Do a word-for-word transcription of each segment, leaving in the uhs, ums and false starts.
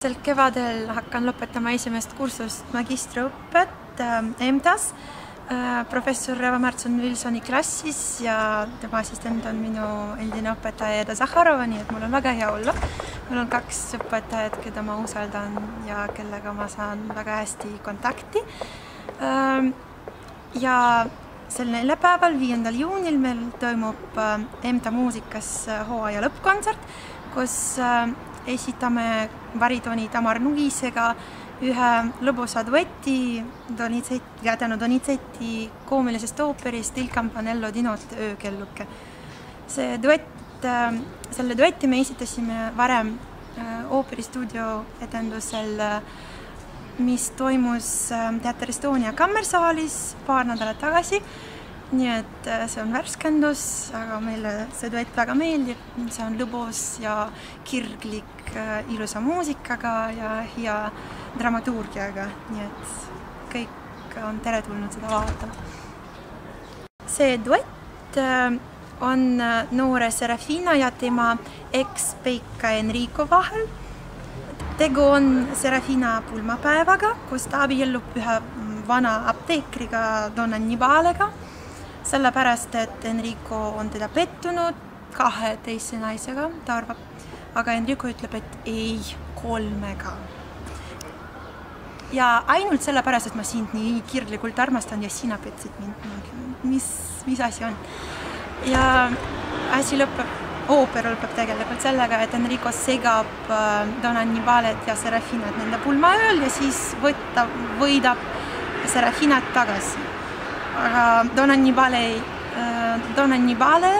Sel kevadel hakkan lõpetama esimest kursust magistriõpet E M T A-s professor Eva Märtson-Wilsoni klassis ja tema assistent on minu endine õpetaja Eda Zahharova, nii et mul on väga hea olla. Mul on kaks õpetajat, keda ma usaldan ja kellega ma saan väga hästi kontakti. Ja sel neljapäeval, viiendal juunil meil toimub E M T A muusikas hooaja lõppkontsert, kus esitame baritooni Tamar Nugisega ühe lõbusa dueti tänu Donizetti koomilisest ooperist Il Campanello di Notte öökelluke. See duett, selle duetti me esitasime varem ooperistuudio etendusel, mis toimus Teater Estonia kammersaalis paar nädalat tagasi. Nii et see on värskendus, aga meile see duett väga meeldib. See on lõbus ja kirglik ilusa muusikaga ja hea dramaturgiaga, nii et kõik on teretulnud seda vaatama. See duett on noore Serafina ja tema eks-Peika Enrico vahel. Tegu on Serafina pulmapäevaga, kus ta abiellub ühe vana apteekriga Don Annibalega, sellepärast, et Enrico on teda pettunud kahe teise naisega, ta arvab, aga Enrico ütleb, et ei, kolmega. Ja ainult sellepärast, et ma sind nii kirglikult armastan ja sina petsid mind. Mis, mis asi on? Ja asi lõpeb, ooper lõpeb tegelikult sellega, et Enrico segab Don Annibalet ja Serafinat nende pulmaööl ja siis võtta, võidab Serafinat tagasi. Aga Don Annibale, Don Annibale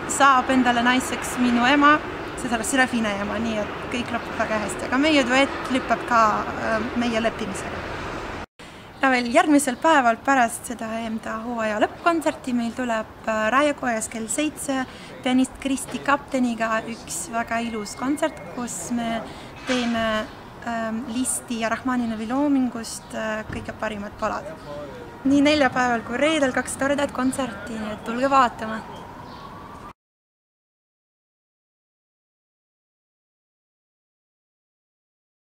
saab endale naiseks minu ema, seda Serafina ema, nii et kõik lõpeb väga hästi. Aga meie duett lõpeb ka meie leppimisega. Ja veel järgmisel päeval pärast seda E M T A hooaja lõppkontserti meil tuleb Raekojas kell seitse pianist Kristi Kapteniga üks väga ilus kontsert, kus me teeme Listi ja Rahmaninovi loomingust kõige parimad palad. Nii neljapäeval kui reedel kaks toredat kontserti, nii et tulge vaatama!